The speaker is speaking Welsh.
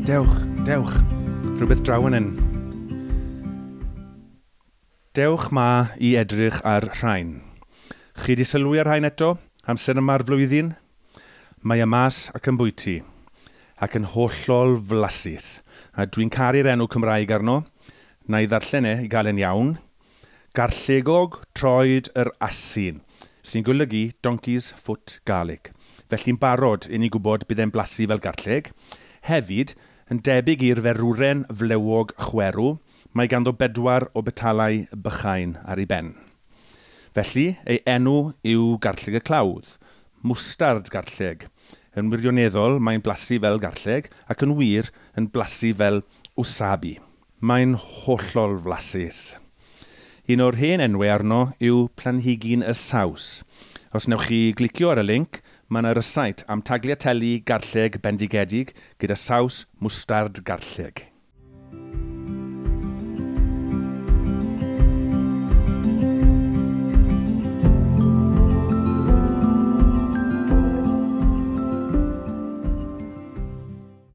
Dewch, dewch. Rhywbeth draw yn hyn. Dewch ma i edrych ar rhain. Chi di sylwi ar rhain eto? Amser yma'r flwyddyn? Mae y mas ac yn bwyty. Ac yn hollol flasus. A dwi'n caru'r enw Cymraeg arno. Na i ddarllen e i gael e'n iawn. Garllegog troed yr asyn, sy'n golygu donkey's foot garlic. Felly'n barod i ni gwybod bydd e'n blasu fel garlleg. Hefyd, yn debyg i'r ferwren flewog chwerw, mae ganddo bedwar o betalau bychain ar ei ben. Felly, ei enw yw garlleg y clawdd, mwstard garlleg. Yn wirioneddol, mae'n blasu fel garlleg, ac yn wir, yn blasu fel wasabi. Mae'n hollol flasus. Un o'r hen enwau arno yw planhigyn y saws. Os wnewch chi glicio ar y link, mae yna rysait am tagliatelle garlleg bendigedig gyda saws mwstard garlleg.